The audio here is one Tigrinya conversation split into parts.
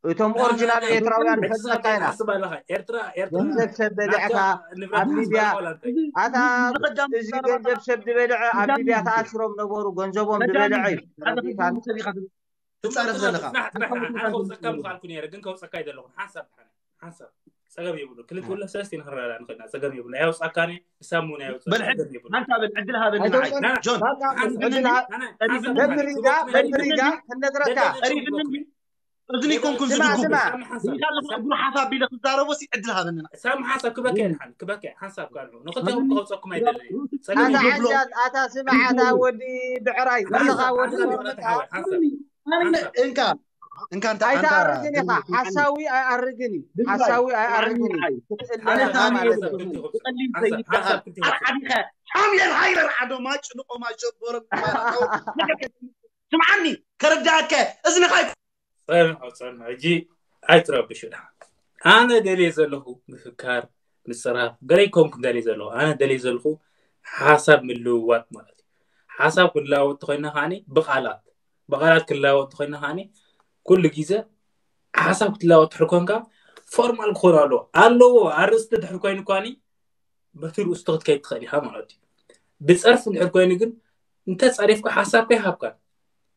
እቶም ኦሪጂናል ኤርትራውያን ንፈልጠካ ኢና። ሓስብ ኣለኻ ኤርትራ ኤርትራ ገንዘብ ሰብ በሊዕካ ኣብ ሊብያ ኣታ እዚ ገንዘብ ሰብ ዝበልዐ ኣብ ሊብያ ተኣሲሮም ነበሩ። ገንዘቦም ዝበልዐ እዩ። ትፃረፍ ዘለካ ከውፀካ ምክኣልኩ ነረ ግን ከውፀካ ኣይደለኹን ሓንሳብ ሓንሳብ ጸገም የብሉ ክልተ ወላ ሰለስተ ንክረዳ ንኽእልና ጸገም የብሉ ኣይውፃካኒ እሳሙ ናይ ውፅእ ጸገም የብሉ ሓንታ በል ዕድል ሃበኒ ንዓይ ጆን በምሪጋ በምሪጋ ክነግረካ እዝኒ ኮንኩ ስማ ዝድጉ ስማ እግሩ ሓፍ ኣቢለ ክዛረቦ ሲ ዕድል ሃበኒ ንዓይ ሳም ሓንሳብ ክበከ ሓን ክበከ ሓንሳብ ካልዑ ንኽልቲኦም ከውፀኩም ኣይደለኒ ኣታ ሓንጃት ኣታ ስምዓታ ወዲ ብዕራይ ንኻ ወዲ እንካ እንካ እንታይ ኣይተኣርግን ኢኻ። ሓሳዊ ኣይኣርግን እዩ። ሓሳዊ ኣይኣርግን እዩ። ክትእለ ኣነ ኢኻ ሳሚ ማለት እየ እዩ። ዝብሎ። ክትእለ ኣነ ኢኻ ሳሚ እየ ማለት ዝብሎ። እዩ። ብቐሊል ሓንሳብ- ዘይበሃል ሓንሳብ ክልቲኦም ኣርዓዲኸ ሓምየል ሃይረር ዓዶ ማጭ ንቆማ ሸቦሮም ማራታው ትስምዓኒ ከረዳእከ እዝንኻ ጸንሑ ጸንሑ ሕጂ ኣይትረብሹ ድሓ ኣነ ደልየ ዘለኹ ምፍካር ምፅራፍ ገለ ይኮንኩ ደልየ ዘለኹ ኣነ ደልየ ዘለኹ ሓሳብ ምልውዋጥ ማለት እዩ ሓሳብ ክለዋወጥ ተኮይና ከዓኒ ብቃላት ብቃላት ክለዋወጥ ተኮይና ከዓኒ ኩሉ ግዜ ሓሳብ ክትለዋወጥ ድሕር ኮንካ ፎርማል ክኾን ኣለዎ ኣለዎ ኣርእስቲ ድሕር ኮይኑ ኳኒ በቲ ርእስቶ ክትከይድ ትኽእል ኢኻ ማለት እዩ ብፀርፊ ድሕር ኮይኑ ግን እንተፀሪፍካ ሓሳብካ ይሃብካን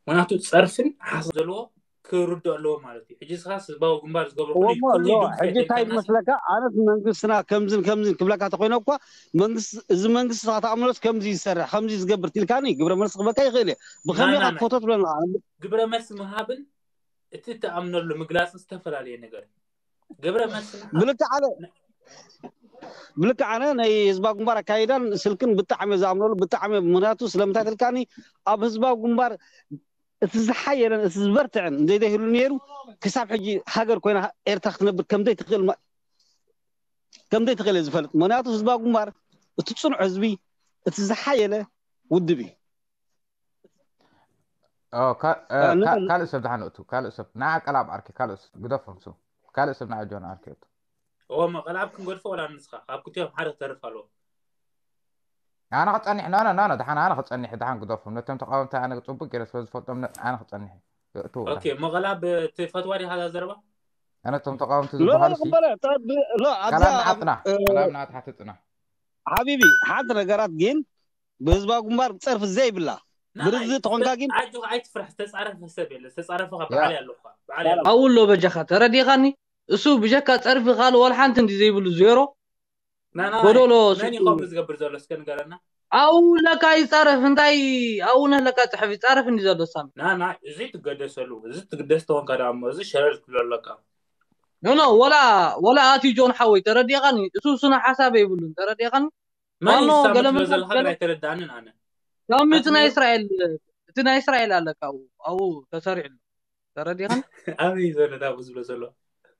ምክንያቱ ፀርፍን ሓሳብ ዘለዎ ክርዶ ኣለዎ ማለት እዩ ሕጂ ስኻስ ህዝባዊ ግንባር ዝገብሮ ኩሉ እሞ ኩሉ ሎ ይድምሰ ሕጂ እንታይ ተይልካናስ ዝመስለካ ኣነስ መንግስትና ከምዝን ከምዝን ክብለካ ተኮይነ እኳ መንግስቲ እዚ መንግስቲ ስኻ ተኣምኖስ ከምዚ ይሰርሕ ከምዚ ዝገብር ትልካኒ ግብረ መልሲ ክበካ ይኽእል እየ ብከመይ ናና ኢኻ ትፈቶ ትብለና ግብረ መልሲ ምሃብን እቲ ትኣምነሉ ምግላፅን ዝተፈላለየ ነገር እዩ። ግብረ መልሲ ምሃብ ብልክዕ ኣነ ብልክዕ ኣነ ናይ ህዝባዊ ግንባር ኣካይዳን ስልክን ብጣዕሚ እየ ዝኣምነሉ ብጣዕሚ እየ ምክንያቱ ስለምንታይ ትልካኒ ኣብ ህዝባዊ ግንባር እቲ ዝሓየለን እቲ ዝበርትዕን እንዘይደይህሉ ነይሩ ክሳብ ሕጂ ሃገር ኮይና ኤርትራ ክትነብር ከምዘይትኽእል ማ- ከምዘይትኽእል እየ ዝፈልጥ ምክንያቱ ህዝባዊ ግንባር እቲ ፅኑዕ ህዝቢ እቲ ዝሓየለ ውድብ እዩ ኦ፣ ካ- እ፣ እ፣ ን- ካ- ካልእ ሰብ ድሓን እቱ ካልእ ሰብ ንዓ ቀላብ ዓርኪ ካልእ ሰብ ግደፎም ሱ ካልእ ሰብ ንዓ ጆን ዓርኪ እቱ እወ መቐልዓብ ክንገድፎ ወላ ንስኻ ካብ ክልቲኦም ሓደ ክተርፍ ኣለዎ ኣነ ክፀኒሕ ኖ ኖ ኖ ድሓን ኣነ ክፀኒሕ ድሓን ግደፎም ነቶም ተቃወምቲ ኣነ ፅቡቅ ገይረ ስለ ዝፈልጦም ነ- ኣነ ክፀኒሕ እቱ ኦኬ መቐላብ ትፈትዋ ዲኻ እዛ ዘረባ ኣነ እቶም ተቃወምቲ ሎ ዝበሃሉ ሲ ቅበለ ጠብ- ሎ ኣብዛ ቀላብ ንዓጥና እ፣ ቀላብ ንዓት ሓትፅና ሓቢቢ ሓንቲ ነገራት ግን ብህዝባዊ ግንባር ፀርፊ ዘይብላ ብርዚ ተኾንካ ግን ኣጆ ኣይትፍራሕ ዝተፃረፈ ሰብ የለ ዝተፃረፈ ካብ ያ በዓል ኣለኹ በዓል ኣለኹ ኣብኡ ኣሎ በጃኻ ተረዲኻኒ እሱ ብጀካ ፀርፊ ካልእ ወላ ሓንቲ እንዲ ዘይብሉ ዜሮ ናና ጎዶሎ መን እዩ ከምኡ ዝገብር ዘሎ እስከ ንገረና ኣብኡ ለካ ይፃረፍ እንታይ ኣብኡ ነህ ለካ ፅሕፍ ይፃረፍ እንዲ ዘሎ ሳሚ ናና እዚ ትገደሰሉ እዚ ትግደስ ተኾንካ ደኣ እሞ እዚ ሸረር ትብሎ ኣለካ ኖ ኖ ወላ ወላ ኣትዩ ጆን ሓወይ ተረዲኻኒ እሱ ስነ ሓሳብ የብሉን ተረዲኻኒ መን እዩ ዋኖ ሳሚ ገለ ትብሎ መንፈስ ዘለካ ግን ገለ ኣይተረዳንን ኣነ ሳሚ እቲ ናይ ኣትምዮ እስራኤል እቲ ናይ እስራኤል ኣለካ ኣብኡ ኣብኡ ተሰሪዑ ኣሎ ተረዲኻኒ ኣበይ ዘሎ ዳቡ ዝብሎ ዘሎ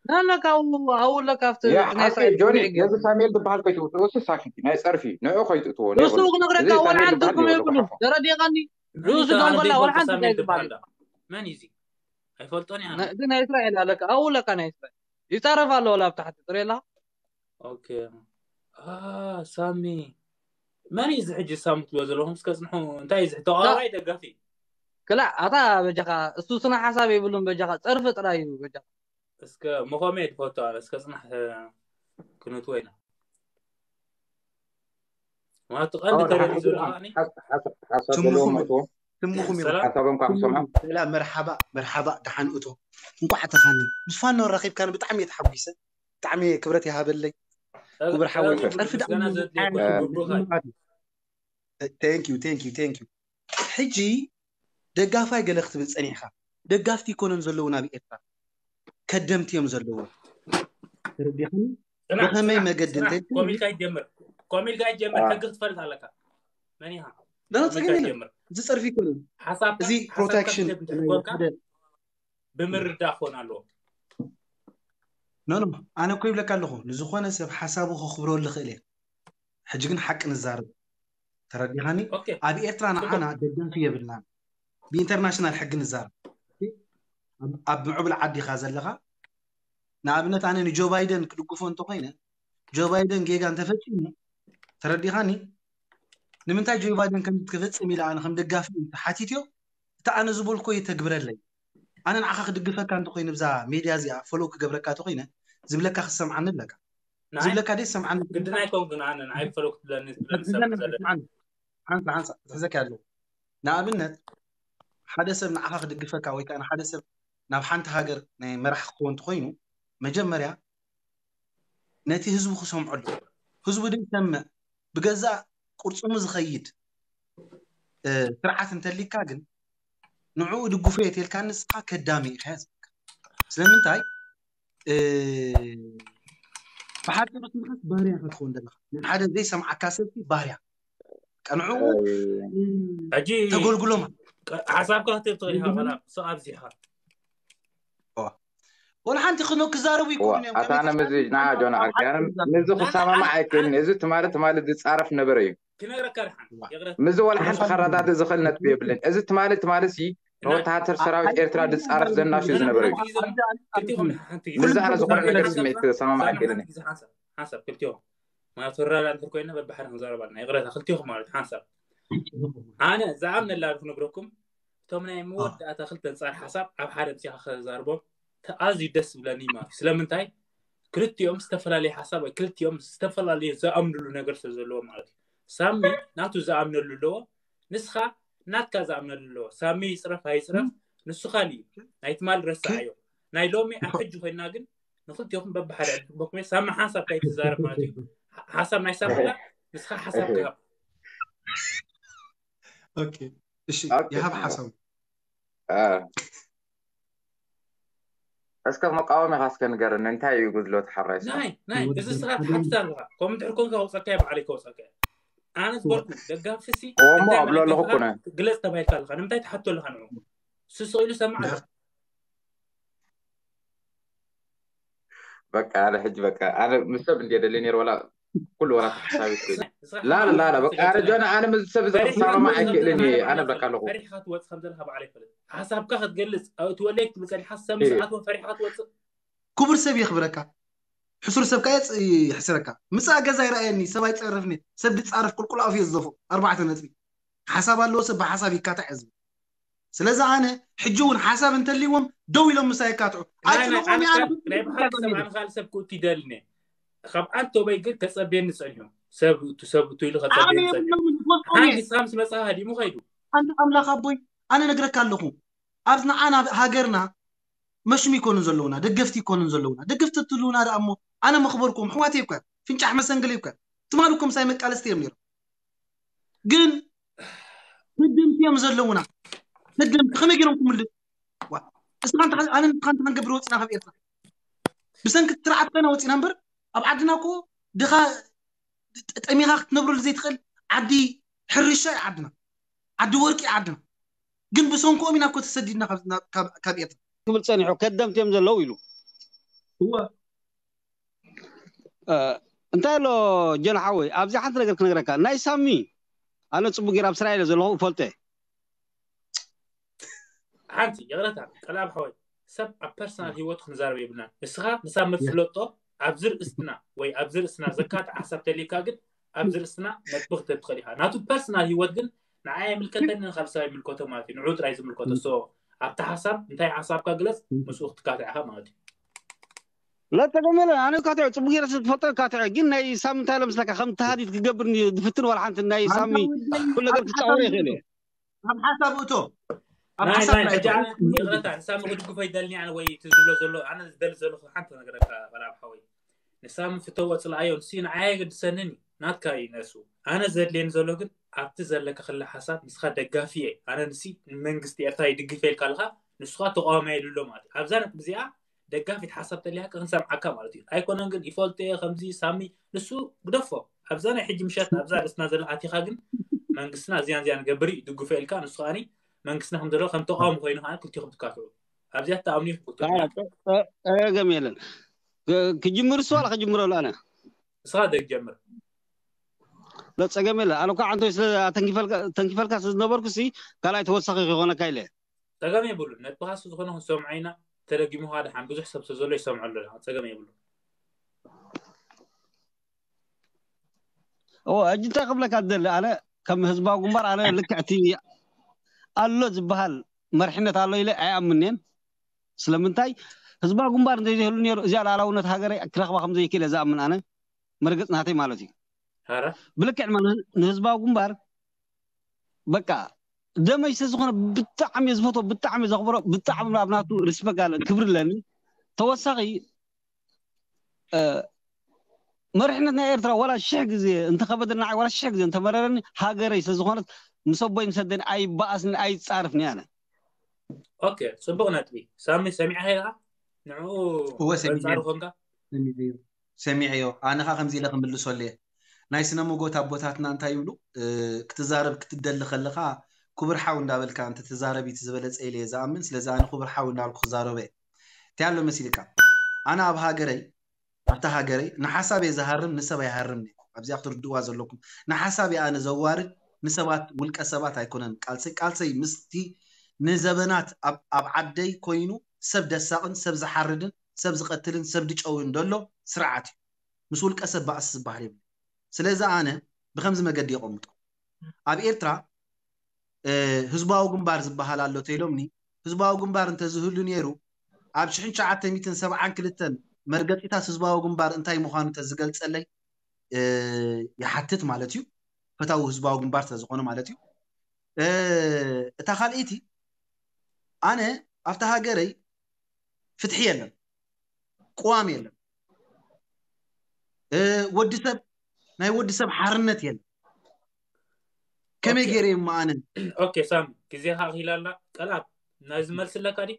ናለካ ኣብኡ ኣብኡ ኣለካ ኣብቲ ያ እቲ ናይ ሓቂ እስራኤል ጆኒ ስምዒት ገይሩ ነዚ ሳሙኤል ዝበሃል ከይትውስዶ እሱ ሳክቲ ናይ ፀርፊ ንዑ ከይትእትዎ ርእሱ የብሉ ክነግረካ እዚ ወላ ሳሙኤል ሓንቲ ዝበሃል ትርጉም ይወሎ የብሉን ክሓፎ ተረዲኻኒ መን ርእሱ እዩ ኣነ ደንጎላ ወላ ዘይፈልጦ ሓንቲ ሳሙኤል እንታይ ዝበሃል ዝበሃል ዳ መን እዩ እዚ ኣይፈልጦን እየ ኣነ ነ- እቲ ናይ እስራኤል ኣለካ ኣብኡ ኣለካ ናይ እስራኤል ይፃረፍ ኣሎ ወላ ኣብ ታሕቲ ትርኢ ኣለካ ኦኬ አ ሳሚ መን እዩ እዚ ሕጂ ሳሚ ትብሎ ዘለኹም እስከ ፅንሑ እንታይ እዩ እዚ ተቃዋማይ ደጋፊ ክላእ ኣታ በጃኻ እሱ ስነ ሓሳብ የብሉን በጃኻ ፀርፊ ጥራይ እዩ በጃኻ እስከ መኾመ ድፈቶ ኣነ እስከ ፅናሕ ክንትወ ኢና ማለት ቀንዲ ተረዲ ዘሎ ከዓኒ ሓሳብ ዘለዎ መእትዎ ትምኹም ኢኹም ሰላም ሓሳቦም ካብ ሰምዖም ሰላም መርሓባ መርሓባ ደሓን እቶ እንኳዕ ተኻኒ ምስ ፋኖ ረኺብካኒ ብጣዕሚ እየ ተሓጒሰ ብጣዕሚ እየ ክብረት ይሃበለይ ክቡር ሓወይ ሰላም ፀርፊ ምስጋና ዘድልዮ ደኣ ኩሉ ብሩኻይ thank you thank you thank you ሕጂ ደጋፋይ ገለ ክትብል ፀኒሕካ ደጋፍቲ ይኮነን ዘለውን ኣብ ኤርትራ ከደምቲ እዮም ዘለዎም ተረዲኻኒ ጽናሕ ብኸመይ ጽናሕ መገዲ ጽናሕ እንተልካ ኮም ኢልካ ይጀምር ኮም ኢልካ ይጀምር ኣዎ። ሕጊ ክትፈልጥ ኣለካ መን ኢኻ ዳና ኮም ኢልካ ትክክል ይጀምር እዚ ጸርፊ ይኮነን ሓሳብካ እዚ ሓሳብካ ፕሮቴክሽን ክትህብ እንተኮንካ ሓደ ብምርዳእ ክኾን ኣለዎ ኖ ኖ ኣነ እኮ ይብለካ ኣለኹ ንዝኾነ ሰብ ሓሳቡ ከኽብረሉ ይኽእል እየ ሕጂ ግን ሓቂ ንዛረብ ተረዲኻኒ ኦኬ ኣብ ኤርትራ ጽቡቅ ንዓና ደጋፊ የብልናን ብኢንተርናሽናል ሕጊ ንዛረብ ኣብ- ኣብ ምዕቡል ዓዲ ኢኻ ዘለኻ ንኣብነት ኣነ ንጆ ባይደን ክድግፎ እንተኮይነ ጆ ባይደን ጌጋ እንተፈፂሙ ተረዲኻኒ ንምንታይ ጆ ባይደን ከም ክፍፅም ኢለ ኣነ ከም ደጋፊ ተሓቲትዮ እቲ ኣነ ዝበልኮ ይተግብረለይ ኣነ ንዓኻ ክድግፈካ እንተኮይነ ብዛ ሜድያ እዚኣ ፎሎ ክገብረካ እንተኮይነ ዝብለካ ክሰምዓኒ ኣለካ። ዝብለካ ደይ ሰምዓኒ። ግድን ኣይኮንኩን ኣነ ንዓይ ፈለኩ ትብለኒ ትብለኒ ሰብ ዘለኒ። ሓንሳ ሓንሳ ትሕዘካ ኣለዎ። ንኣብነት ሓደ ሰብ ንዓኻ ክድግፈካ ወይ ከዓ ንሓደ ሰብ ናብ ሓንቲ ሃገር ናይ መራሕ ክኸውን እንተኮይኑ መጀመርያ ነቲ ህዝቡ ክሰምዖ ኣለዎ። ህዝቡ ደይ ሰምዕ ብገዛእ ቅርፅሙ ዝኸይድ ስርዓት እንተሊካ ግን ንዕኡ ድግፎ እየ ተልካ ንስኻ ከዳሚ ኢኻ ዝብለካ። ስለምንታይ ብሓፂሩ ትምህርት ባህርያ ኢኻ ትኸውን ዘለካ። ንሓደ ዘይሰምዓካ ሰብቲ ባህርያ ቀንዑ ሕጂ ተጎልጉሎም ሓሳብካ ክትብ ትኽእል ኢኻ። ላ ሶ ኣብዚኻ ወላ ሓንቲ ክኖ ክዛረቡ ይክእሉ እዮም። ኣታ ኣነ ምዚ ንዓ ጆን ዓርኪ ኣነ ምዚ ክሰማማዕ ኣይክእልን። እዚ ትማሊ ትማሊ ዝፃረፍ ነበረ እዩ። ክነግረካ ድሓን ይቕረት ምዚ ወላ ሓንቲ ከረዳድእ ዝኽእል ነጥቢ የብልን። እዚ ትማሊ ትማሊ ሲ ንወተሃደር ሰራዊት ኤርትራ ዝፃረፍ ዘናሹ ዝነበረ እዩ። ክልቲኹም ሓንቲ ግዜ ምዚ ኣነ ዝኾነ ነገር ስምዒት ክሰማማዕ ኣይክእልን። ሓንሳብ ሓንሳብ ክልቲኹም ማለት ወራዳ እንድሕር ኮይና በብሓደ ክንዛረብ ኣለና። ይቕረታ ክልቲኹም ማለት ሓንሳብ ኣነ ዝኣምነላ ክነግረኩም እቶም ናይ መወዳእታ ክልተ ኣንጻር ሓሳብ ኣብ ሓደ ምጽኻ ክዛርቦም ኣዝዩ ደስ ዝብለኒ ማለት እዩ። ስለምንታይ ክልቲኦም ዝተፈላለየ ሓሳብ ወይ ክልቲኦም ዝተፈላለየ ዝኣምንሉ ነገር ስለ ዘለዎ ማለት እዩ። ሳሚ ናቱ ዝኣምነሉ ኣለዎ፣ ንስኻ ናትካ ዝኣምነሉ ኣለዎ። ሳሚ ይጽረፍ ኣይጽረፍ ንሱ ካልእ እዩ። ናይ ትማል ረሳዓዮ ናይ ሎሚ ኣብ ሕጂ ኮይና ግን ንክልቲኹም በብሓደ ዕድል ክበኩም እየ። ሳሚ ሓንሳብ እንታይ ትዛረብ ማለት እዩ። ሓሳብ ናይ ሳሚ ኣላ ንስኻ ሓሳብ ክሃብ ኦኬ እሺ ይሃብ ሓሳቡ እስከ መቃወሚኻ እስከ ንገረኒ እንታይ እዩ ጉድለቱ ሓራይ ናይ ናይ እዚ ስኻ ትሓትት ኣለኻ። ከምኡ እንድሕር ኮንካ ከውፀካ እየ ባዕለይ ከውፀካ እየ። ኣነ ዝበልኩ ደጋፊ ሲ እሞ ኣብሎ ኣለኹ እኮ ነ ግለፅ ተባሂልካ ኣለኻ ንምንታይ ትሓቶ ኣለኻ ንዑ ስስቕ ኢሉ ሰማዕ ኣሎ በቃ ኣነ ሕጂ በቃ ኣነ ምስ ሰብ እንድየ ደሊ ነይሩ ወላ ኩሉ ወላ ተሓሳቢ ላ ላ ላ በቃ ኣነ ጆና ኣነ ምስ ሰብ ዝተሰማማ ኣይክእልን እየ ኣነ በቃ ኣለኹ ፈሪሕካ ትወፅእ ከም ዘለካ ባዕለ ይፈልጥ ሓሳብካ ክትገልፅ እቲ ወለይ ክትብል ፀኒሓ ሰብ ምስ ኣትወ ፈሪሕካ ትወፅእ ክቡር ሰብ የኽብረካ ሕሱር ሰብ ካየ ይሕስረካ ምፃእ ገዛ ይረኣየኒ ሰብ ኣይፀርፍኒ ሰብ ድፃረፍ ቁልቁል ኣፍ የዝደፎ ኣርባዕተ ነጥቢ ሓሳብ ኣለዎ ሰብ ብሓሳብ ይካታዕ ዝብል ስለዚ ኣነ ሕጂ እውን ሓሳብ እንተልዎም ደው ኢሎም ምሳይ ይካትዑ ኣይትለቆም ናይ ብሓቂ ሰብ ኣነ ካልእ ሰብ ክእቱ ይደልኒ ካብ ኣንቶበይ ግን ከፀብየኒ ፀኒሑ ሰብ እቱ ሰብ እቱ ኢሉ ከፀብየኒ ፀኒሑ ሓንቲ ስኻ ምስ መፅኻ ሃዲሙ ከይዱ ኣንተ ኣምላኽ ኣቦይ ኣነ ነግረካ ኣለኹ ኣብዚ ንዓና ሃገርና መሽም ይኮኑን ዘለውና ደገፍቲ ይኮኑን ዘለውና ደገፍቲ ትልውና ደኣ እሞ ኣነ መኽበርኩም ኣሕዋተይ እኳ ፍንጫሕ መሰንግለይ እኳ ትማሊ እኮ ምሳይ መቃለስቲ እዮም ነይሮም ግን ህግምቲ እዮም ዘለውና ህግምቲ ከመይ ገይሮም ክምልስ እስኻ ኣነ ንስኻ እንተሓንገብር ወፅና ካብ ኤርትራ ብሰንኪ ስርዓት ኮይና ወፂና እምበር ኣብ ዓድና እኮ ድኻ ጠሚኻ ክትነብረሉ ዘይትኽእል ዓዲ ሕርሻ እዩ ዓድና ዓዲ ወርቂ እዩ ዓድና ግን ብሰንክኦም ኢና እኮ ተሰዲድና ካብ ኤርትራ ክብል ፀኒሑ ከደምቲ እዮም ዘለዉ ኢሉ እንታይ ኣሎ ጀን ሓወይ ኣብዚ ሓንቲ ነገር ክነግረካ ናይ ሳሚ ኣነ ፅቡቅ ገይር ኣብ ስራኤል ዘለኹ እፈልጦ ሓንቲ ይቕረታ ቀላብ ሓወይ ሰብ ኣብ ፐርሰናል ህይወቱ ክንዛረብ የብልና ንስኻ ንሳብ መፍለጦ ኣብዚ ርእስትና ወይ ኣብዚ ርእስና ዘካትዕ ሓሳብ ተልካ ግን ኣብዚ ርእስና ነጥቢ ክትህብ ትኽእል ኢኻ ናቱ ፐርሰናል ህይወት ግን ንዓይ ኣይምልከተኒ ንካብ ሰብ ኣይምልከቶ ማለት እዩ ንዑ ጥራይ ዝምልከቶ ሶ ኣብቲ ሓሳብ እንታይ ሓሳብካ ግለፅ ምስኡ ክትካትዕ ኢኻ ማለት እዩ ለተገመለ ኣነ ካትዕ ፅቡቅ ገይረ ዝፈልጦ ካትዕ ግን ናይ ሳሚ እንታይ ለምስለካ ከም ተሃዲድ ክገብር ዝፍትን ዋላ ሓንቲ ናይ ሳሚ ኩሉ ነገር ክፃወር ይኽእል እየ ኣብ ሓሳብ እቶ ኣብ ናይ ሓሳብ ናይ ናይ ሕጂ ኣነ ይቕረታ ንሳሚ ክድግፎ ይደልኒ ኣነ ወይ እቲ ዝብሎ ዘሎ ኣነ ዝደሊ ዘለኹ ሓንቲ ነገረካ ቀላብ ሓወይ ንሳሚ ፍተዎ ፅልኣዮ ንሲ ንዓይ ኣይገድሰንን እዩ ናትካ እዩ ነሱ ኣነ ዘድልየኒ ዘሎ ግን ኣብቲ ዘለካ ክለ ሓሳብ ንስኻ ደጋፊ እየ ኣነ ንሲ ንመንግስቲ ኤርትራ ይድግፍ የልካ ኣለካ ንስኻ ተቃዋማይ የሉ ኣሎ ማለት እዩ ኣብዛ ነጥቢ እዚኣ ደጋፊት ሓሳብ ተሊሃካ ክንሰምዓካ ማለት እዩ ኣይኮነን ግን ይፈልጦ እየ ከምዚ ሳሚ ንሱ ግደፎ ኣብዛ ናይ ሕጂ ምሸት ኣብዛ ርእስና ዘላ ኣቲኻ ግን መንግስትና እዚያን እዚያን ገብር እዩ ድግፎ ኢልካ ንሱ ከዓኒ መንግስትና ከም ዘሎ ከም ተቃውሞ ኮይኑ ከዓኒ ክልቲኹም ትካትዑ ኣብዚኣ ተኣምኑ ይፍኩቶ ጸገም የለን ክጅምር እሱ ዋላ ክጅምረሉ ኣነ ንስኻ ደግ ጀምር ጸገም የለን ኣነ እኳ ዓንቶይ ስለ ተንኪፈልካ ስለ ዝነበርኩ ሲ ካልኣይ ተወሳኺ ክኾነካ ኢለ ጸገም የብሉን ነጥብኻ ስለ ዝኾነ ክንሰምዖ ኢና ተደጊሙ ከዓ ደሓን ብዙሕ ሰብ ስለ ዘሎ ይሰምዖ ኣሎ ጸገም የብሉን እወ ሕጂ እንታይ ክብለካ ዝደሊ ኣነ ከም ህዝባዊ ግንባር ኣነ ልክዕ እቲ ኣሎ ዝበሃል መርሕነት ኣሎ ኢለ ኣይኣምንን ስለምንታይ ህዝባዊ ግንባር እንተዘይህሉ ነይሩ እዚኣ ሉዓላውነት ሃገረይ ክረኽባ ከም ዘይክእል እየ ዝኣምን ኣነ። መርገጽ ናተይ ማለት እዩ። ኧረ ብልክዕ ድማ ንህ- ንህዝባዊ ግንባር በቃ ደመይ ስለ ዝኾነ ብጣዕሚ እየ ዝፈትዎ፣ ብጣዕሚ እየ ዘኽብሮ፣ ብጣዕሚ ኣብ ናቱ ሪስፔክት ኣለ ክብሪ ኣለኒ። ተወሳኺ እ፣ መሪሕነት ናይ ኤርትራ ዋላ ሽሕ ግዜ እንተኸበደና ዋላ ሽሕ ግዜ እንተመረረኒ ሃገረይ ስለ ዝኾነት ምስ ኣቦይ ምስ ኣደይ ኣይበኣስን ኣይጻርፍን እየ ኣነ። ኦኬ፣ ጽቡቕ ነጥቢ። ሳሚ፣ ሰሚዕኻ ኢኻ ንዕኡ እወ፣ ሰሚዐ። በንጻሩ ኮንካ? ሰሚዐዮ። ኣነ ኸዓ ከምዚ ኢለ ክምልሰሉ እየ። ናይ ስነ መጎት ኣቦታትና እንታይ ይብሉ? እ፣ ክትዛረብ ክትደሊ ከለኻ ክቡር ሓው እንዳበልካ እንተትዛረብ እቲ ዝበለጸ ኢለ እየ ዝኣምን። ስለዚ ኣነ ክቡር ሓው እንዳበልኩ ክዛረበ እየ። እንታይ ኣሎ መሲልካ? ኣነ ኣብ ሃገረይ ኣብታ ሃገረይ ንሓሳብ እየ ዝሃርም፣ ንሰብ ኣይሃርምን እየ። ኣብዚኣ ክትርድእዋ ዘለኩም። ንሓሳብ እየ ኣነ ዘዋርድ፣ ንሰባት ውልቀ ሰባት ኣይኮነን። ቃልሰይ ቃልሰይ ምስቲ ንዘበናት ኣብ ኣብ ዓደይ ኮይኑ ሰብ ደሳቕን ሰብ ዝሓርድን ሰብ ዝቐትልን ሰብ ድጨውን ደሎ ስርዓት እዩ። ምስ ውልቀ ሰብ ባእሲ ዝበሃል የብሉ። ስለዚ ኣነ ብከምዚ መገዲ የቐምጦ። ኣብ ኤርትራ እ፣ ህዝባዊ ግንባር ዝበሃል ኣሎ ተይሎምኒ። ህዝባዊ ግንባር እንተዝህሉ ነይሩ ኣብ ሽሕን ትሽዓተ ሚእትን ሰብዓን ክልተን መርገጺታት ህዝባዊ ግንባር እንታይ ምዃኑ ተዝገልጸለይ እ፣ ይሓትት ማለት እዩ። ፈታዊ ህዝባዊ ግንባር ስለዝኾነ ማለት እዩ። እ፣ እታ ካልኣይቲ ኣነ ኣብታ ሃገረይ ፍትሒ የለን፣ ቅዋም የለን፣ እ፣ ወዲ ሰብ ናይ ወዲ ሰብ ሓርነት የለን። ከመይ ኦኬ። ገይረ እሞ ኣነ ኦኬ ሳም፣ ግዜኻ ኣኺላ ኣላ። ቀልኣብ ናይዚ መልሲ ኣለካ ድዩ?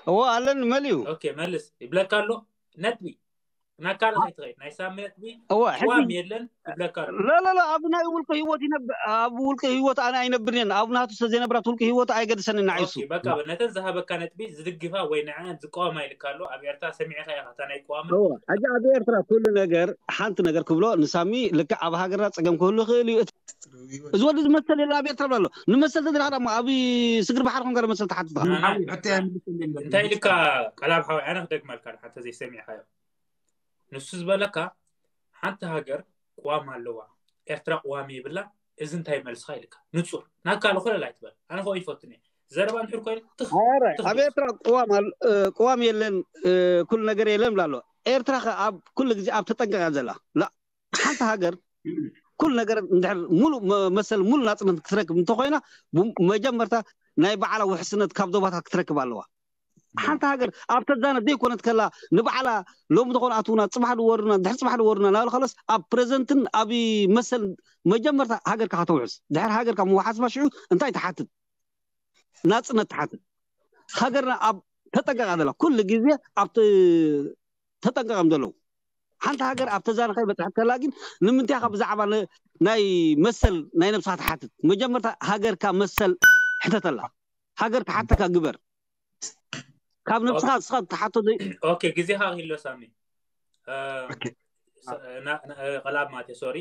እዎ ኣለኒ መሊኡ። ኦኬ፣ መልስ ይብለካ ኣሎ። ነጥቢ ናካለ ከይትኸይድ ናይ ሳሚ ነጥቢ እዎ ሕጂ ቅዋም የለን ይብለካ ኣሎ። ላ ላ ላ ኣብ ናይ ውልቀ ህይወት ይነብ ኣብ ውልቀ ህይወት ኣነ ኣይነብርን እየን። ኣብ ናቱ ስለ ዘይነብራት ውልቀ ህይወት ኣይገድሰንን ንዓይሱ። ኦኬ፣ በቃ ነተን ዝሃበካ ነጥቢ ዝድግፋ ወይ ንዐን ዝቃወማ ይልካ ኣሎ። ኣብ ኤርትራ ሰሚዕካ ኢኻ እታ ናይ ቅዋምን እዎ ሕጂ ኣብ ኤርትራ ኩሉ ነገር ሓንቲ ነገር ክብሎ ንሳሚ ልክዕ ኣብ ሃገርና ጸገም ክህሉ ይኽእል እዩ። እቲ- እዚ ወዲ ዝመሰል የለ ኣብ ኤርትራ ብሎ ኣሎ። ንመሰል ተደረኻ ድማ ኣብ ስግር ባሕሪ ኮንካ መሰል ትሓትት ኢኻ። ኣና- ሓዊ ሕቶ እያ ምልስልኝ። እንታይ ኢልካ ቀላብ ሓወይ፣ ኣነ ክደግመልካ ሓተ ዘይሰሚዕካዮ ንሱ ዝበለካ ሓንቲ ሃገር ቅዋም ኣለዋ፣ ኤርትራ ቅዋም የብላ። እዚ እንታይ መልስኻ ኢልካ ንጹር ናካል ኮለል ኣይትበል። ኣነ ከ ይፈትን እየ ዘረባ እንድሕር ኮይኑ ትኽ ኧረ ትኽ ኣብ ኤርትራ ቅዋም ኣል- እ፣ ቅዋም የለን እ፣ ኩሉ ነገር የለን ብላ ኣሎ። ኤርትራ ከ ኣብ ኩሉ ግዜ ኣብ ተጠንቀቃ ዘላ ላ ሓንቲ ሃገር ኩሉ ነገር እንድሕር ሙሉ መ- መሰል ሙሉ ናጽነት ክትረክብ እንተኮይና ቡ- መጀመርታ ናይ ባዕላ ውሕስነት ካብ ዞባታት ክትረክብ ኣለዋ። ሓንቲ ሃገር ኣብ ተዛነት ዘይኮነት ከላ ንባዕላ ሎም ዝኾነ ኣትውና ጽባሕ ድወርና ድሕር ጽባሕ ድወርና ናብ ካልኦስ ኣብ ፕሬዘንትን ኣብ መሰል መጀመርታ ሃገርካ ከተውሕስ ድሕር ሃገርካ ምውሓስ ማሽዑ እንታይ ትሓትት? ናጽነት ትሓትት። ሃገርና ኣብ ተጠንቀቃ ዘላ ኩሉ ግዜ ኣብ ተ- ተጠንቀቀም ዘለዉ ሓንቲ ሃገር ኣብ ተዛነ ከይበፅሐት ከላ ግን ንምንታይ ካብ ብዛዕባ ነ- ናይ መሰል ናይ ነብስካ ትሓትት? መጀመርታ ሃገርካ መሰል ሕተተላ። ሃገር ክሓተካ ግበር። ካብ ነብስካ ንስካ ትሓቶ ዘይ- ኦኬ፣ ግዜኻ ክህሎ ሳሚ። እ፣ ኦኬ። ስ- ና- ና- እ፣ ቀላብ ማቴ ሶሪ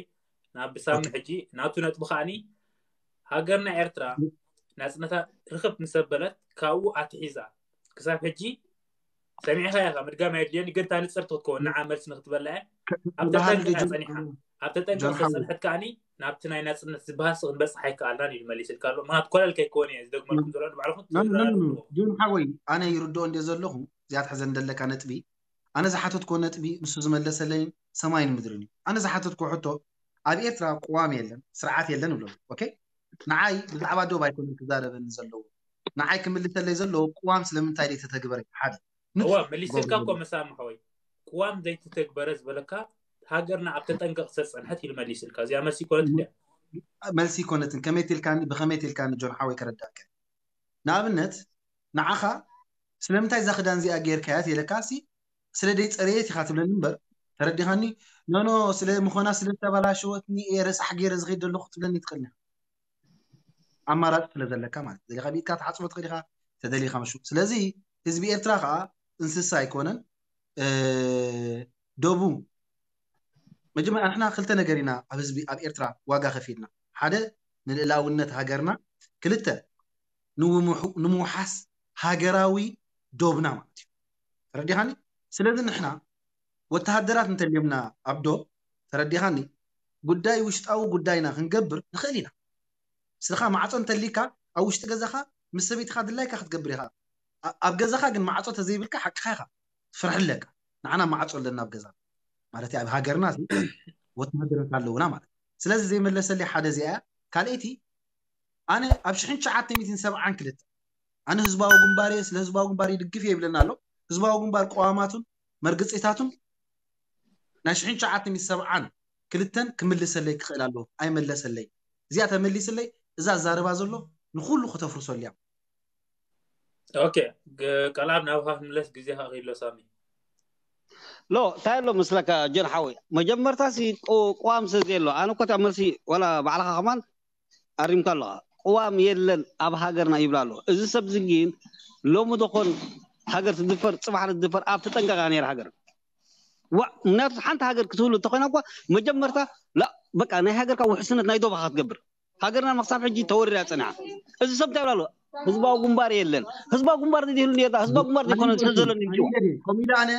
ናብ ብሳሚ ሕጂ ናቱ ነጥቢ ከዓኒ ሃገርና ኤርትራ ናጽነታ ርክብ ምስ ኣበለት ካብኡ ኣትሒዛ ክሳብ ሕጂ ሰሚዕካ ኢኻ። ምድጋም ኣየድልየኒ ግን እታ ንጽርቲ ክትከውን ንዓ መልሲ ንክትበላ እያ። ኣብ ባህሉ ተጠንቀቃ ጆን ጸኒሓ ኣብ ተጠንቀቅ ጆን ሓወይ። ተጸንሐት ከዓኒ ናብቲ ናይ ናጽነት ዝበሃሲ ክንበጽሕ ኣይከኣልናን ኢሉ መሊስልካ ኣሎ። ምክንያቱ ኮለል ከይከውን እየ ዝደግመልኩም ዘሎ ንባዕልኹም ኖ፣ ኖ፣ ኖ፣ ኖ። ትዛረብዎ። ጆን ሓወይ ኣነ ይርድኦ እንደ ዘለኹ እዚኣ ትሕዘ እንደለካ ነጥቢ ኣነ ዝሓተትኮ ነጥቢ ንሱ ዝመለሰለይ ሰማይን ምድርን እዩ። ኣነ ዝሓተትኮ ሕቶ ኣብ ኤርትራ ቅዋም የለን ስርዓት የለን ይብሎ። ኦኬ ንዓይ ብዛዕባ ዶብ ኣይኮነን ክዛረበኒ ዘለዎ ንዓይ ክምልሰለይ ዘለዎ ቅዋም ስለምንታይ ዘይተተግበረ ሓደ እዋ መሊስልካ እኮ መሳሚ ሓወይ ቅዋም ዘይተተግበረ ዝበለካ ሃገርና ኣብ ተጠንቀቕ ዝተፀንሐት ኢሉ መሊስልካ። እዚኣ መልሲ ይኮነት እንድያ። መልሲ ይኮነትን ከመይ ትልካኒ ብከመይ ትልካኒ ጆን ሓወይ ከረዳእከ ንኣብነት ንዓኻ ስለምንታይ እዛ ክዳን እዚኣ ጌርካያ ትለካ ሲ ስለ ደይ ፀረየት ኢኻ ትብለኒ እምበር ተረዲኻኒ ኖኖ ስለ ምኾና ስለ ዝተበላሸወትኒ እየ ረሳሕ ገይረ ዝኸይድ ዘለኹ ትብለኒ ትኽእል ኢኻ ኣማራፂ ስለ ዘለካ ማለት ደሊኻ ብኢድካ ትሓፅቦ ትኽእል ኢኻ ተደሊኻ መሹ ስለዚ ህዝቢ ኤርትራ ከዓ እንስሳ ኣይኮነን እ፣ ደቡ መጀመርያ ንሕና ክልተ ነገር ኢና ኣብ ህዝቢ ኣብ ኤርትራ ዋጋ ከፊልና ሓደ ንልእላውነት ሃገርና ክልተ ንምውሑ- ንምውሓስ ሃገራዊ ዶብና ማለት እዩ ተረዲኻኒ ስለዚ ንሕና ወተሃደራት እንተልዮምና ኣብ ዶብ ተረዲኻኒ ጉዳይ ውሽጣዊ ጉዳይና ክንገብር ንኽእል ኢና ስኻ ማዕፆ እንተሊካ ኣብ ውሽጢ ገዛኻ ምስ ሰበይትኻ ድላይካ ክትገብር ኢኻ ኣብ ገዛኻ ግን ማዕፆ ተዘይብልካ ሓቅኻ ኢኻ ትፍርሕ ኣለካ። ንዓና ማዕፆ ኣለና ኣብ ገዛ ማለት ኣብ ሃገርና ወተሃደራት ኣለውና ማለት። ስለዚ ዘይመለሰለይ ሓደ እዚኣ እያ። ካልኣይቲ ኣነ ኣብ ሽሕን ትሽዓተ ሚእትን ሰብዓን ክልተ ኣነ ህዝባዊ ግንባር እየ፣ ስለ ህዝባዊ ግንባር ይድግፍ እየ ይብለና ኣሎ። ህዝባዊ ግንባር ቅዋማቱን መርገፂታቱን ናይ ሽሕን ትሽዓተ ሚእትን ሰብዓን ክልተን ክምልሰለይ ክኽእል ኣለዎ። ኣይመለሰለይ። እዚኣ ተመሊስለይ እዛ ዛረባ ዘሎ ንኩሉ ከተፍርሰሉ እያ። ኦኬ፣ ቀላብ ናብካ ክምለስ ግዜ ከኺሎ ሳሚ። ሎ እንታይ ኣሎ መስለካ ጆን ሓወይ፣ መጀመርታ ሲ ቅዋም ስለ ዘየሎ ኣነ እኮ እታ መልሲ ዋላ ባዕልኻ ከማን ኣሪምካ ኣለኻ። ቅዋም የለን ኣብ ሃገርና ይብላ ኣሎ። እዚ ሰብ እዚ ግን ሎሚ ደኾን ሃገር ትድፈር፣ ፅባሕ ትድፈር ኣብ ተጠንቀቃ ነይራ ሃገር። ዋ ምክንያቱ ሓንቲ ሃገር ክትህሉ እንተኮይና እኳ መጀመርታ ላ በቃ ናይ ሃገርካ ውሕስነት ናይ ዶባኻ ክትገብር። ሃገርና መክሳብ ሕጂ ተወሪራ ፀኒሓ። እዚ ሰብ እንታይ ይብላ ኣሎ? ህዝባዊ ግንባር የለን። ህዝባዊ ግንባር እንዲህሉ ነርና ህዝባዊ ግንባር ዘይኮነ ሰብ ዘሎ ንምጭዋ። ከምኡ ኢለ ኣነ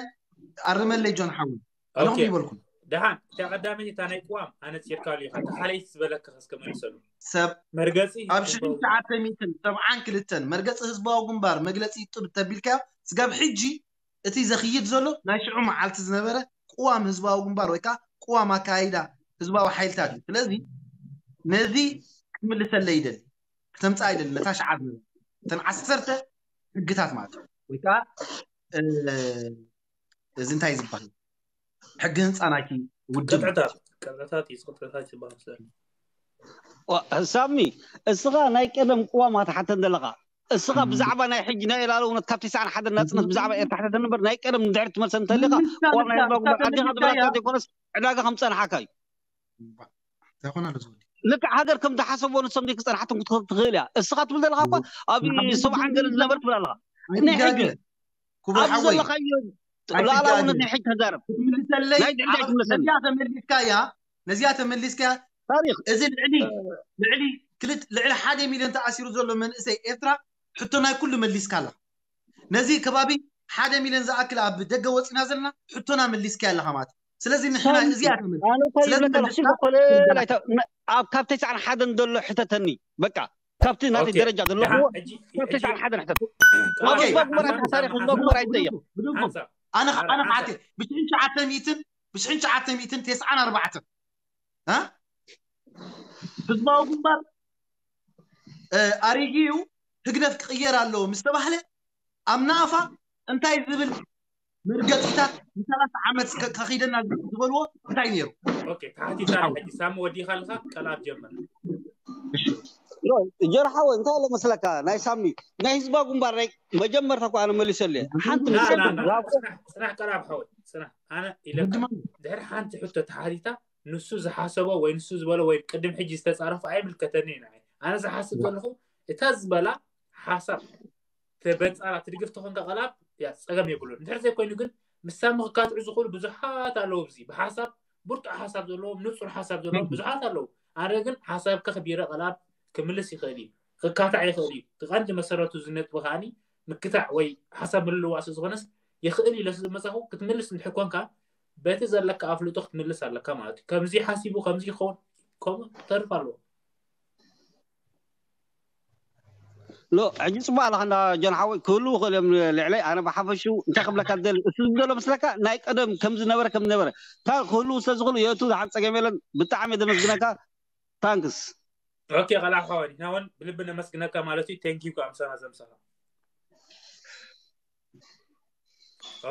ኣርመለይ ጆን ሓዊ ኣለኹም ይበልኩም። ደሓን እታ ቀዳመይቲ እታ ናይ ቅዋም ኣነ ፂርካሉ ኢኻ እታ ካልኣይቲ ዝበለካ ከስከመልሰሉ ሰብ መርገፂ ኣብ ሽሕን ትሽዓተ ሚእትን ሰብዓን ክልተን መርገፂ ህዝባዊ ግንባር መግለፂ ጥብ ተቢልካዮ ስጋብ ሕጂ እቲ ዘኽይድ ዘሎ ናይ ሽዑ መዓልቲ ዝነበረ ቅዋም ህዝባዊ ግንባር ወይ ከዓ ቅዋም ኣካይዳ ህዝባዊ ሓይልታት እዩ። ስለዚ ነዚ ክምልሰለይ ይደሊ፣ ክተምፅኣ ይደሊ ነታ ሽዓ ዝነበረ እተን ዓሰርተ ሕግታት ማለት እዩ። ወይ ከዓ እዚ እንታይ ዝበሃል ሕጊ ህንፃ ናይቲ ውድብ ቅጥዕታት ቅጥዕታት እዩ ቅጥዕታት ዝበሃል ስለ ሳሚ እስኻ ናይ ቀደም ቅዋም ኣትሓተን ዘለኻ እስኻ ብዛዕባ ናይ ሕጂ ናይ ላዕለውነት ካብ ተስዓን ሓደን ናፅነት ብዛዕባ ኤርትራ ሕተተኒ እምበር ናይ ቀደም ንድሕሪ ትመልሰኒ እንተሊኻ ቅዋም ናይ ህዝባዊ ግንባር ኣዲኻ ዝበላካ ዘይኮነስ ዕዳጋ ከም ፀንሓካ እዩ። እንታይ ኮን ኣሎ ዝወዲ ልክዕ ሃገር ከም ዝሓሰብዎ ንሶም ዘይክፀንሓቶም ክትኽእል ትኽእል እያ። እስኻ ትብል ዘለኻ እኳ ኣብ ሰብዓን ገለ ዝነበረ ትብል ኣለኻ። ናይ ሕጂ ክቡር ኣብዚ ሓወይ ዘለኻዮ ሉዓላውነት ናይ ሕጂ ተዛረብ። ክትምልሰለይ ናይ ድሕሪ ኣይትምለሰኒ። ነዚኣ ተመሊስካያ ነዚኣ ተመሊስካያ ታሪክ እዚ ልዕሊ ልዕሊ ክልተ ልዕሊ ሓደ ሚልዮን ተኣሲሩ ዘሎ መንእሰይ ኤርትራ ሕቶ ናይ ኩሉ መሊስካ ኣለኻ። ነዚ ከባቢ ሓደ ሚልዮን ዝኣክል ኣብ ደገ ወፂና ዘለና ሕቶና መሊስካ ኣለኻ ማለት እዩ። ስለዚ ንሕና ሳሚ፣ እዚኣ ተመልስ ኣነ እኮ ስለዚ ይብለካ ኣለኹ መልስካ ኮለ ትርዳእ። ላይታ- ነ- ኣብ ካብ ተስዓን ሓደን ዘሎ ሕተተኒ በቃ ካብቲ ናተይ ኦኬ። ደረጃ ዘለኹዎ ደሓን፣ ሕጂ- ካብ ሕጂ- ተስዓን ሓደን ሕተት ኦኬ። ህዝባዊ ግንባር ኣይትሓሳሪ ህዝባዊ ግንባር ኣይትፀየፍ። ብድንቁ ሓንሳብ ኣነ ኣነ ሓንሳብ ሓቴ ብሽሕን ትሽዓተ ሚእትን ብሽሕን ትሽዓተ ሚእትን ተስዓን ኣርባዕተን እ? ህዝባዊ ግንባር እ፣ ኣሪጊ እዩ ህግደፍ ክቕየር ኣለዎ ምስ ተባህለ ኣብ ናእፋ እንታይ ዝብል መርገፂታት ንሰላሳ ዓመት ከ- ከኺደና ዝበልዎ እንታይ ነይሩ? ኦኬ ተሓቲታ ሕጂ ሳሚ ወዲኻ ኣለኻ ቀልኣብ ጀመር ጀርሓወ እንታይ ኣሎ መስለካ ናይ ሳሚ ናይ ህዝባዊ ግንባር ናይ መጀመርታ እኮ ኣነ መሊሰሉ እየ ሓንቲ ና ምሰል ና ና ጽናሕ ጽናሕ ቀልኣብ ሓወይ ጽናሕ ኣነ ኢለካ ድሕሪ ሓንቲ ሕቶ ተሓቲታ ንሱ ዝሓሰቦ ወይ ንሱ ዝበሎ ወይ ቅድም ሕጂ ዝተጻረፎ ኣይምልከተኒ ንዓይ ኣነ ዝሓስብ ዘለኹ እታ ዝበላ ሓሳብ ተበጻራ ትድግፍ ተኾንካ ቀልኣብ ያ ጸገም የብሉን እንድሕር ዘይኮይኑ ግን ምስ ሳሚ ክካትዑ ዝኽእሉ ብዙሓት ኣለዉ ኣብዚ ብሓሳብ ብርቱዕ ሓሳብ ዘለዎም ንጹር ሓሳብ ዘለዎም ብዙሓት ኣለዉ ኣነ ግን ሓሳብ ከኽቢረ ቀልኣብ ክምልስ ይኽእል እዩ ክካታዕ ይኽእል እዩ እቲ ቀንዲ መሰረቱ ዝነጥቢ ከዓኒ ምክታዕ ወይ ሓሳብ ምልልዋእ ስለ ዝኾነስ ይኽእል እዩ ኢለ ስለ ዝመጻኹ ክትምልስ እንድሕር ኮንካ በቲ ዘለካ ኣፍልጦ ክትምልስ ኣለካ ማለት እዩ ከምዚ ሓሲቡ ከምዚ ይኸውን ከምኡ ተርፍ ኣለዎ ሎ ሕጂ ፅቡቅ ኣለካ እንዳ ጆን ሓወይ ክህልው ይኽእል እዮም ልዕለይ ኣነ ብሓፈሽኡ እንታይ ክብለካ ደሊ እሱ ዝደሎ ምስለካ ናይ ቀደም ከም ዝነበረ ከም ዝነበረ እታ ክህልው ስለ ዝኽእሉ የእቱ ዝሓን ፀገም የለን ብጣዕሚ እየ ዘመስግነካ ታንክስ ኦኬ ቀልኣብ ሓወይ ንሕና እውን ብልቢ ነመስግነካ ማለት እዩ thank you ኣምሳና ዘምሳኻ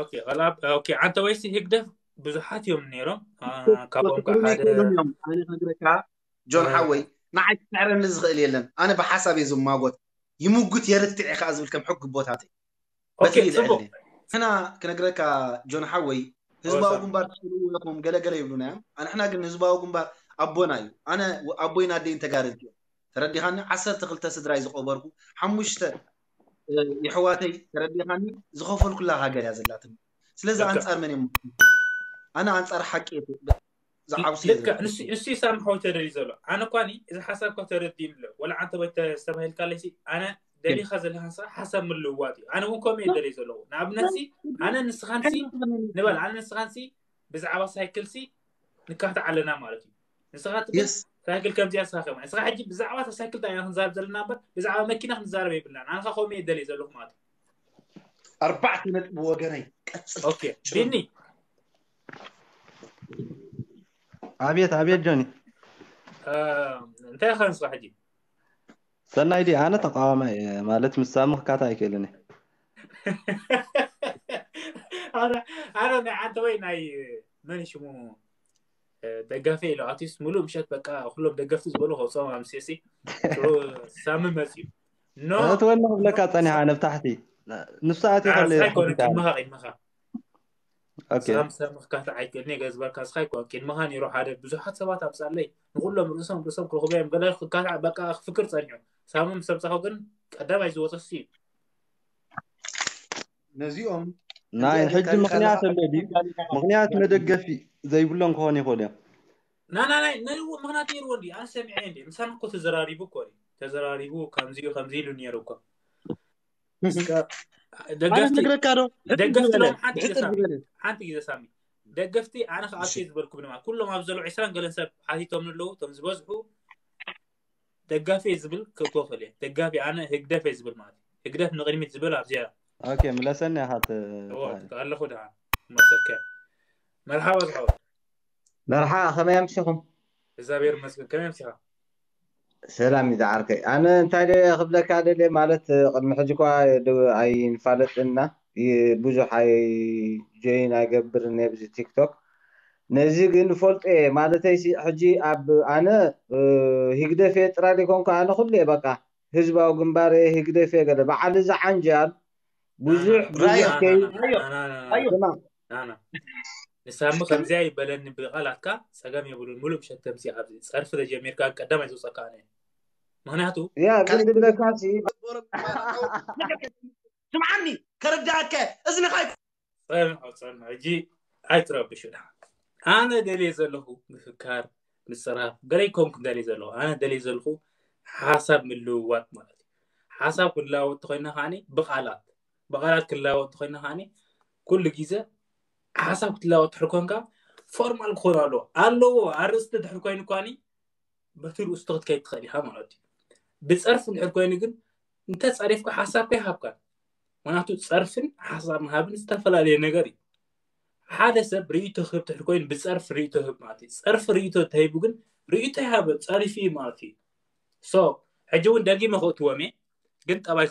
ኦኬ ቀልኣብ ኦኬ ዓንተ ወይሲ ህግደፍ ብዙሓት እዮም ነይሮም አ፣ ካብኦም ከዓ ሓደ ኣነ ክነግረካ ጆን ሓወይ ንዓይ ክስዕረኒ ዝኽእል የለን ኣነ ብሓሳብ እየ ዝማጎት ይምጉት የርትዕ እየ ከዓ ዝብል ከም ሕጊ ቦታተይ ኦኬ በቲ ጽቡቅ ይልዕል ሕና ክነግረካ ጆን ሓወይ ህዝባዊ ግንባር ትስልዎ ኢኹም ገለገለ ይብሉና እዮም ኣንሕና ግን ህዝባዊ ግንባር ኣቦና እዩ ኣነ ኣቦይን ኣደይን ተጋደልቲ እዮም ተረዲኻኒ ዓሰርተ ክልተ ስድራይ ዝቆበርኩ ሓሙሽተ የሕዋተይ ተረዲኻኒ ዝኸፈልኩላ ሃገር እያ ዘላትኒ ስለዚ ኣንፃር መን እዮም ኣነ ኣንፃር ሓቂ ዝዓብሱ ልክዕ ንሱ ንሱ ይሳምሖ ተደልዩ ዘሎ ኣነ እኳ እዚ ሓሳብ እኳ ተረዲእኒ ኣሎ ወላ ዓንተ ወይ ዝተባሂልካ ኣለሲ ኣነ ደሊኻ ዘለካ ንስኻ ሓሳብ ምልውዋጥ እዩ ኣነ እውን ከምኡ እየ ደልየ ዘለኹ ንኣብነት ሲ ኣነ ንስኻን ሲ ንበል ኣነ ንስኻን ሲ ብዛዕባ ሳይክል ሲ ንካታዕ ኣለና ማለት እዩ ንስኻ ትብል የስ ሳይክል ከምዚኣ ንስኻ ከም ንስኻ ሕጂ ብዛዕባ እታ ሳይክል ዳኢና ክንዛረብ ዘለና እምበር ብዛዕባ መኪና ክንዛረብ የብልናን ኣነ ኸ ከምኡ እየ ደልየ ዘለኹ ማለት እዩ ኣርባዕተ ነጥቢ ወገነይ ቀጽል። ኦኬ ቢኒ ኣቤት ኣቤት ጆኒ። እ፣ እንታይ ኢኻ ንስኻ ሕጂ? ሰናይ ዲ ኣነ ተቃዋማይ እየ፣ ማለት ምስ ሳሚ ክካታ ኣይክእልን እየ። ኣነ ኣነ ናይ ዓንተ ወይ ናይ መን ሽሙ እ፣ ደጋፊ ኢሉ ኣቲስ ሙሉእ ምሸት በቃ ኩሎም ደገፍቲ ዝበሉ ከውፅኦም ኣምስየሲ ሽዑ ሳሚ መፅዩ ኖ እቲ ወላ ክብለካ ጸኒሓ ነብታሕቲ ንሱ ኣትዩ ከሎ ስካ ይኮነ ቅድመኻ ቅድመኻ ኦኬ ሳም ሳም ክካታዕ ኣይክእልን እየ ገዝበልካ ስካ ይኮነ ቅድመኻ ነይሩ ሓደ ብዙሓት ሰባት ኣብፃለይ ንኩሎም ርእሶም ርእሶም ክረኽቡ እዮም ገለ ክካታዕ በቃ ክፍክር ፀኒሑ ሳሚ ምስ ተምፃኹ ግን ቀዳማይ ዝወፀ እሱ እዩ ነዚኦም ናይ ሕጂ ምኽንያት ኣሎ ድዩ? ምኽንያት መደገፊ ዘይብሎም ክኾኑ ይኽእሉ እዮም። ናና ናይ ነልዎ ምኽንያት ነይርዎ እንዲ ኣነ ሰሚዐ እንዲ ምሳና እኮ ተዘራሪቡ እኮ እዩ ተዘራሪቡ ከምዚ እዩ ከምዚ ኢሉ ነይሩ እኮ እስከ ኣነ ደገፍቲ ነግረካ ዶ? ሕጽር ደገፍቲ ዝበለ ሎም ሓንቲ ግዜ ብሕጽር ሳሚ ዝበለ ሓንቲ ግዜ ሳሚ ደገፍቲ ኣነ ከኣትየ ዝበልኩ ድማ ኩሎም ኣብ ዘለዉ ዕስራን ገለን ሰብ ሓቲቶም ኣለዉ እቶም ዝበዝሑ ደጋፊ ዝብል ክእትዎ ክእል እየ ደጋፊ ኣነ ህግደፍ እየ ዝብል ማለት እዩ ህግደፍ ንቅድሚት ዝብል ኣብዚኣ ኦኬ ምለሰኒ ኢኻ ት- እዎ ትበሃል። ኣለኹ ደኣ መሰከ መርሓባ ዝሓወት መርሓ ከመይ ኣምሲኹም? እግዚኣብሔር ይመስገን ከመይ ኣምሲኻ ሰላም እዩ ዝዓርከይ። ኣነ እንታይ ደ ክብለካ ደልየ ማለት ቅድሚ ሕጂ እኳ ድ- ኣይንፋለጥና ይ- ብዙሕ ኣይ ጆይን ኣይገብርን እየ ብዚ ቲክቶክ። ነዚ ግን ፈልጦ እየ ማለተይ ሲ- ሕጂ ኣብ ኣነ እ፣ ሂግደፍ እየ ጥራይ ዘይኮንኩ ኣነ ኩሉ እየ በቃ ህዝባዊ ግንባር እየ ሂግደፍ እየ ገለ በዓል እዚ ዓንጃል ብዙሕ ብዙሕ ራያ ከይ ራዮ ስማ ናና ንሳሚ ከምዚኣ ይበለኒ ብቃላትካ ጸገም የብሉን ሙሉእ ምሸት ከምዚ ኣብዚ ጸርፊ ተጀሚርካ ቀዳማይ ዝውፀካ ኣነ እየ። ምክንያቱ ያ ግን ዝብለካ ሲ ስምዓኒ ከረዳእከ እዝንኻ ጸንዖ ጸንዖ ሕጂ ኣይትረብሹ ዳ ኣነ ደልየ ዘለኹ ምፍካር ምፅራፍ ገለ ይኮንኩ ደልየ ዘለኹ ኣነ ደልየ ዘለኹ ሓሳብ ምልውዋጥ ማለት እዩ ሓሳብ ክንለዋወጥ ተኮይና ከዓኒ ብቃላት ብቃላት ክንለዋወጥ ተኮይና ከዓኒ ኩሉ ግዜ ሓሳብ ክትለዋወጥ ትሕር ኮንካ ፎርማል ክኾኑ ኣለዎ ኣለዎ ኣርእስቲ ድሕር ኮይኑ ኳኒ በቲ ርእስቲ ክትከይድ ትኽእል ኢኻ ማለት እዩ ብፀርፊ ድሕር ኮይኑ ግን እንተፀሪፍካ ሓሳብካ ይሃብካን ምክንያቱ ፀርፍን ሓሳብ ምሃብን ዝተፈላለየ ነገር እዩ ሓደ ሰብ ርእይቶ ክህብ ትሕር ኮይኑ ብፀርፊ ርእይቶ ህብ ማለት እዩ ፀርፊ ርእይቶ ተሂቡ ግን ርእይቶ ይሃበ ፀሪፉ እዩ ማለት እዩ ሶ ሕጂ እውን ደጊመ ክእትዎም እየ ግን ጠባይ